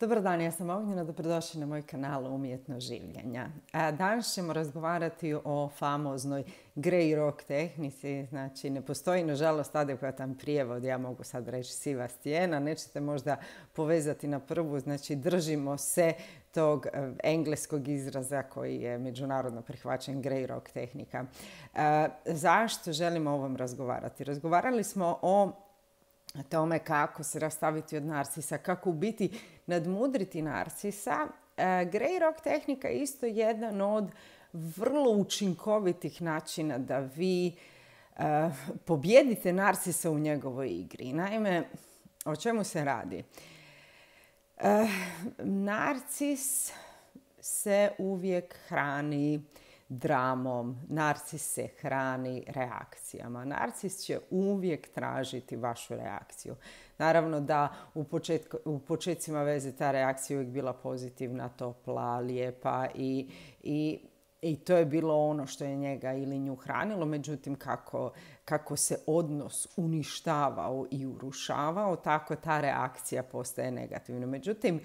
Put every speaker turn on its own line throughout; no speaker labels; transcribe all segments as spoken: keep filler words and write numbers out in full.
Dobar dan, ja sam Ognjena, dobrodošli na moj kanal Umjetno življenja. Danas ćemo razgovarati o famoznoj grey rock tehnici. Znači, ne postoji, nažalost, adekvatan prijevod, ja mogu sad reći siva stijena, nećete možda povezati na prvu, znači držimo se tog engleskog izraza koji je međunarodno prihvaćen, grey rock tehnika. Zašto želimo o ovom razgovarati? Razgovarali smo o tome kako se rastaviti od narcisa, kako u biti nadmudriti narcisa. E, grey rock tehnika je isto jedan od vrlo učinkovitih načina da vi e, pobijedite narcisa u njegovoj igri. Naime, o čemu se radi? E, narcis se uvijek hrani dramom, narcis se hrani reakcijama. Narcis će uvijek tražiti vašu reakciju. Naravno da u, početku, u početcima veze ta reakcija uvijek bila pozitivna, topla, lijepa i, i, i to je bilo ono što je njega ili nju hranilo. Međutim, kako, kako se odnos uništavao i urušavao, tako ta reakcija postaje negativna. Međutim,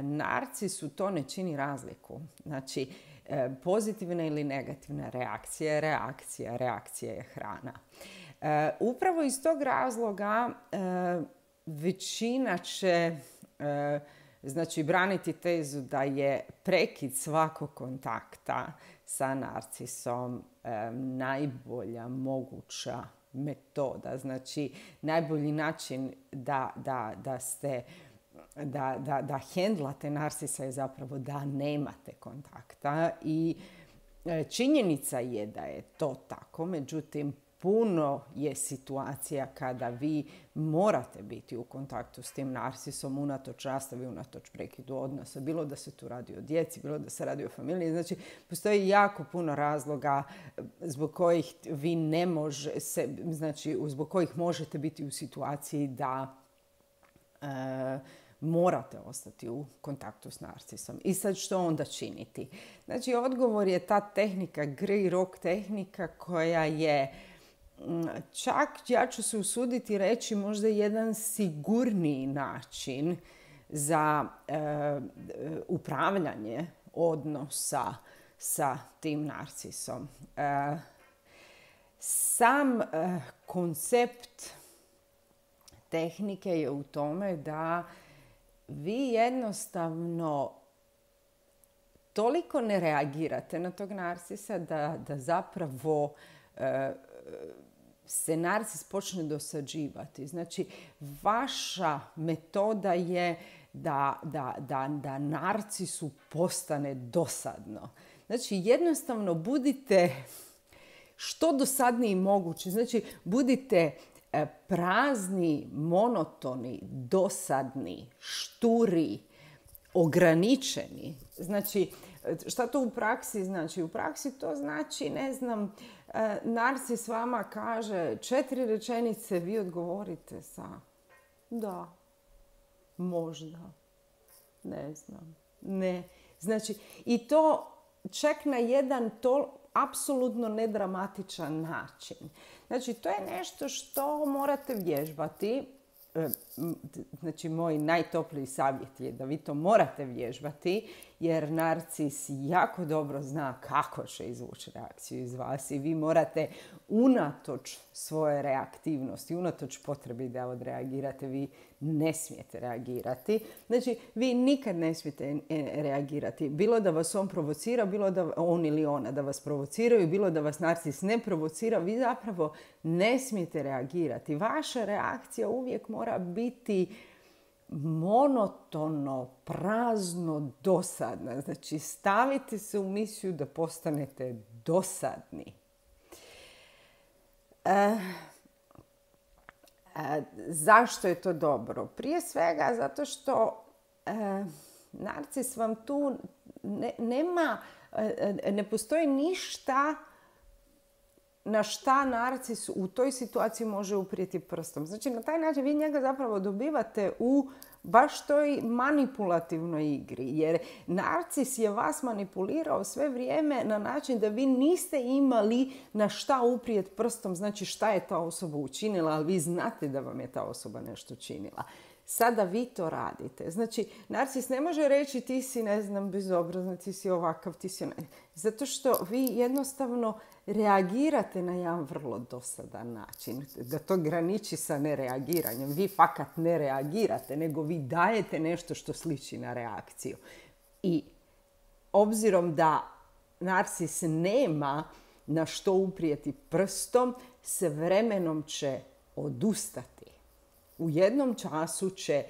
narcisu to ne čini razliku. Znači, pozitivna ili negativna reakcija je reakcija, reakcija je hrana. E, upravo iz tog razloga e, većina će e, znači, braniti tezu da je prekid svakog kontakta sa narcisom e, najbolja moguća metoda. Znači, najbolji način da, da, da ste da, da, da hendlate narcisa je zapravo da nemate kontakta i činjenica je da je to tako, međutim puno je situacija kada vi morate biti u kontaktu s tim narcisom unatoč rastavi, unatoč prekidu odnosa. Bilo da se tu radi o djeci, bilo da se radi o familiji. Znači, postoji jako puno razloga zbog kojih vi ne može se, znači, zbog kojih možete biti u situaciji da e, morate ostati u kontaktu s narcisom. I sad što onda činiti? Znači, odgovor je ta tehnika, grey rock tehnika, koja je čak, ja ću se usuditi reći, možda jedan sigurniji način za e, upravljanje odnosa sa tim narcisom. E, sam e, koncept tehnike je u tome da vi jednostavno toliko ne reagirate na tog narcisa da, da zapravo e, se narcis počne dosađivati. Znači, vaša metoda je da, da, da, da narcisu postane dosadno. Znači, jednostavno budite što dosadniji mogući. Znači, budite prazni, monotoni, dosadni, šturi, ograničeni. Znači, šta to u praksi znači? U praksi to znači, ne znam, narcis vama kaže četiri rečenice, vi odgovorite sa da, možda, ne znam, ne. Znači, i to čak na jedan to apsolutno nedramatičan način. Znači, to je nešto što morate vježbati. Znači, moj najtopliji savjet je da vi to morate vježbati, jer narcis jako dobro zna kako će izvući reakciju iz vas i vi morate unatoč svoje reaktivnosti, unatoč potrebi da odreagirate, vi ne smijete reagirati. Znači, vi nikad ne smijete reagirati. Bilo da vas on provocira, bilo da on ili ona da vas provociraju, bilo da vas narcis ne provocira, vi zapravo ne smijete reagirati. Vaša reakcija uvijek mora biti monotono, prazno, dosadna. Znači, stavite se u misiju da postanete dosadni. E, e, zašto je to dobro? Prije svega zato što e, narcis vam tu ne, nema, e, ne postoji ništa na šta narcis u toj situaciji može uprijeti prstom. Znači, na taj način vi njega zapravo dobivate u baš toj manipulativnoj igri. Jer narcis je vas manipulirao sve vrijeme na način da vi niste imali na šta uprijeti prstom, znači šta je ta osoba učinila, ali vi znate da vam je ta osoba nešto činila. Sada vi to radite. Znači, narcis ne može reći ti si, ne znam, bezobrazan, ti si ovakav, ti si onaj. Zato što vi jednostavno reagirate na jedan vrlo dosadan način. Da to graniči sa nereagiranjem. Vi fakat ne reagirate, nego vi dajete nešto što sliči na reakciju. I obzirom da narcis nema na što uprijeti prstom, s vremenom će odustati. U jednom času će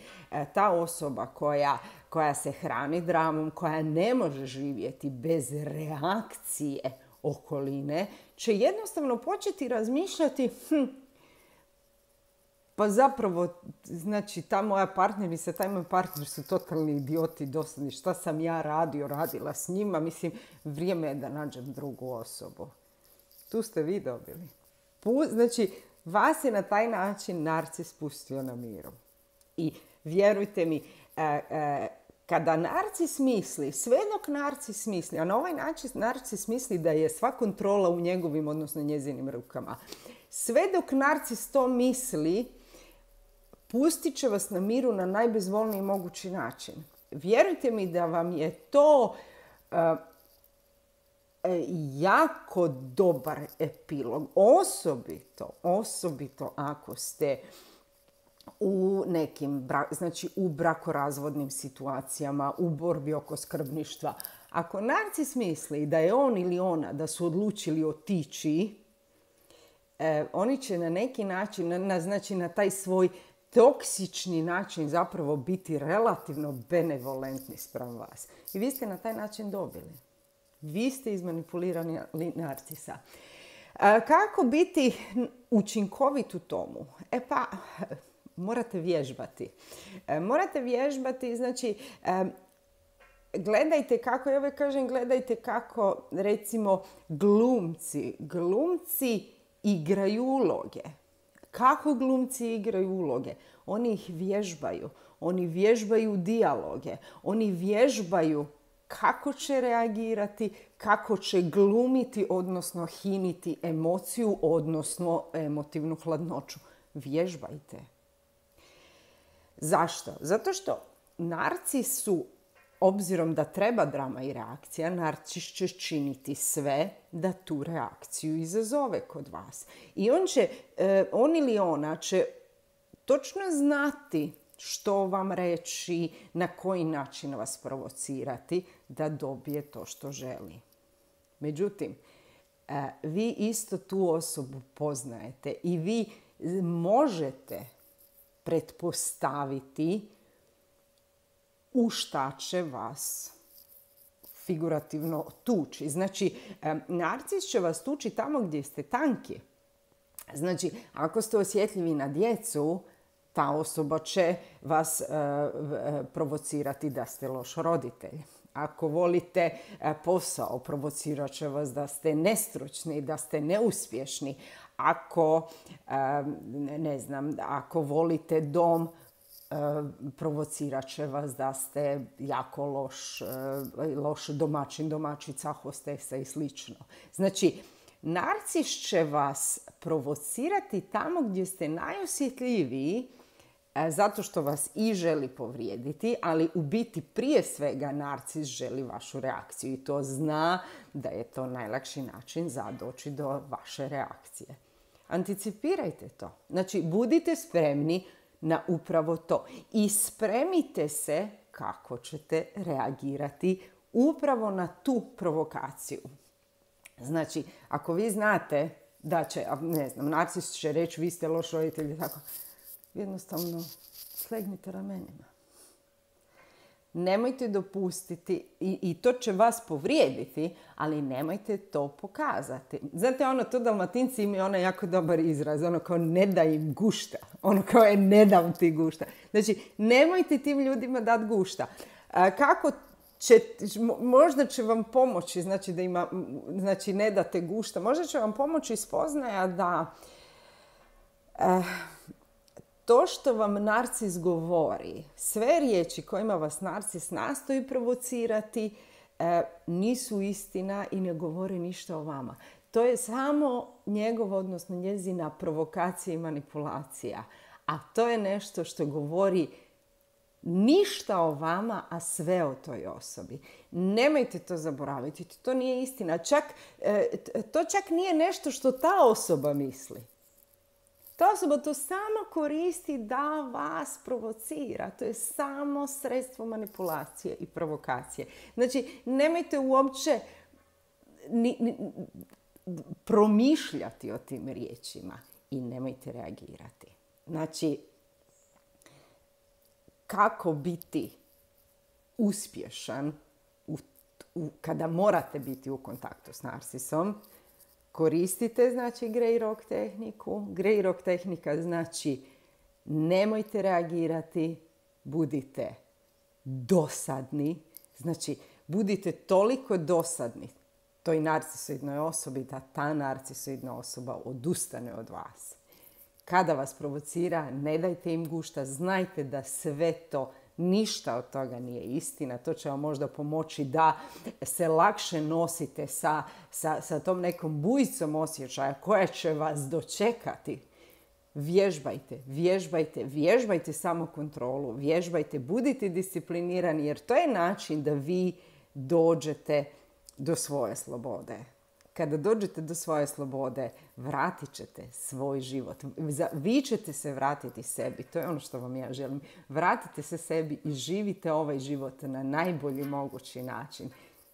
ta osoba koja, koja se hrani dramom, koja ne može živjeti bez reakcije okoline, će jednostavno početi razmišljati hm, pa zapravo, znači, ta moja partnerica, taj moj partner su totalni idioti, dosadni. Šta sam ja radio, radila s njima? Mislim, vrijeme je da nađem drugu osobu. Tu ste vi dobili. Znači, vas je na taj način narcis pustio na miru. I vjerujte mi, e, e, kada narcis misli, sve dok narcis misli, a na ovaj način narcis misli da je sva kontrola u njegovim, odnosno njezinim rukama. Sve dok narcis to misli, pustit će vas na miru na najbezvolniji mogući način. Vjerujte mi da vam je to uh, jako dobar epilog. Osobito, osobito ako ste u nekim, znači u brakorazvodnim situacijama, u borbi oko skrbništva. Ako narcis misli da je on ili ona, da su odlučili otići, eh, oni će na neki način, na, na, znači na taj svoj toksični način zapravo biti relativno benevolentni spram vas. I vi ste na taj način dobili. Vi ste izmanipulirani narcisa. E, kako biti učinkovit u tomu? E pa, morate vježbati. E, morate vježbati, znači, e, gledajte kako, ja uvijek kažem, gledajte kako, recimo, glumci, glumci igraju uloge. Kako glumci igraju uloge? Oni ih vježbaju. Oni vježbaju dijaloge. Oni vježbaju kako će reagirati, kako će glumiti, odnosno hiniti emociju, odnosno emotivnu hladnoću. Vježbajte. Zašto? Zato što narcis su, obzirom da treba drama i reakcija, narcis će činiti sve da tu reakciju izazove kod vas. I on će, on ili ona će točno znati što vam reći, na koji način vas provocirati da dobije to što želi. Međutim, vi isto tu osobu poznajete i vi možete pretpostaviti u šta će vas figurativno tući. Znači, narcis će vas tući tamo gdje ste tanki. Znači, ako ste osjetljivi na djecu, ta osoba će vas uh, provocirati da ste loš roditelj. Ako volite uh, posao, provocirat će vas da ste nestručni, da ste neuspješni. Ako, uh, ne znam, ako volite dom, uh, provocirat će vas da ste jako loš, uh, loš domaćin, domaćica, hostesa i slično. Znači, narcis će vas provocirati tamo gdje ste najosjetljiviji, zato što vas i želi povrijediti, ali u biti prije svega narcis želi vašu reakciju i to zna da je to najlakši način za doći do vaše reakcije. Anticipirajte to. Znači, budite spremni na upravo to i spremite se kako ćete reagirati upravo na tu provokaciju. Znači, ako vi znate da će, ne znam, narcis će reći vi ste loš roditelj, tako, jednostavno slegnite ramenima. Nemojte dopustiti, i, i to će vas povrijediti, ali nemojte to pokazati. Znate, ono, to Dalmatinci imaju ono jako dobar izraz, ono kao ne da im gušta. Ono kao je ne dam ti gušta. Znači, nemojte tim ljudima dati gušta. A, kako će, možda će vam pomoći, znači da ima, znači ne date gušta, možda će vam pomoći spoznaja da eh, to što vam narcis govori, sve riječi kojima vas narcis nastoji provocirati, eh, nisu istina i ne govori ništa o vama. To je samo njegova, odnosno njezina provokacija i manipulacija. A to je nešto što govori ništa o vama, a sve o toj osobi. Nemojte to zaboraviti. To nije istina. Čak, to čak nije nešto što ta osoba misli. Ta osoba to samo koristi da vas provocira. To je samo sredstvo manipulacije i provokacije. Znači, nemojte uopće ni, ni, promišljati o tim riječima i nemojte reagirati. Znači, kako biti uspješan u, u, kada morate biti u kontaktu s narcisom? Koristite, znači, Grey Rock tehniku. Grey Rock tehnika znači nemojte reagirati, budite dosadni. Znači, budite toliko dosadni toj narcisoidnoj osobi da ta narcisoidna osoba odustane od vas. Kada vas provocira, ne dajte im gušta, znajte da sve to, ništa od toga nije istina. To će vam možda pomoći da se lakše nosite sa, sa, sa tom nekom bujicom osjećaja koja će vas dočekati. Vježbajte, vježbajte, vježbajte samokontrolu, vježbajte, budite disciplinirani jer to je način da vi dođete do svoje slobode. Kada dođete do svoje slobode, vratit ćete svoj život. Vi ćete se vratiti sebi. To je ono što vam ja želim. Vratite se sebi i živite ovaj život na najbolji mogući način.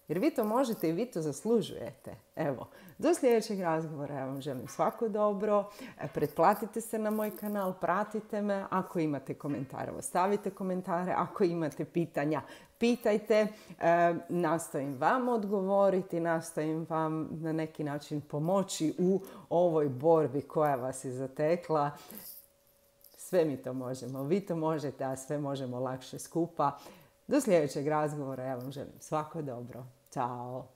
Jer vi to možete i vi to zaslužujete. Evo, do sljedećeg razgovora ja vam želim svako dobro. Pretplatite se na moj kanal, pratite me. Ako imate komentare, ostavite komentare. Ako imate pitanja, pitajte. E, nastojim vam odgovoriti, nastojim vam na neki način pomoći u ovoj borbi koja vas je zatekla. Sve mi to možemo. Vi to možete, a sve možemo lakše skupa. Do sljedećeg razgovora ja vam želim svako dobro. Ćao!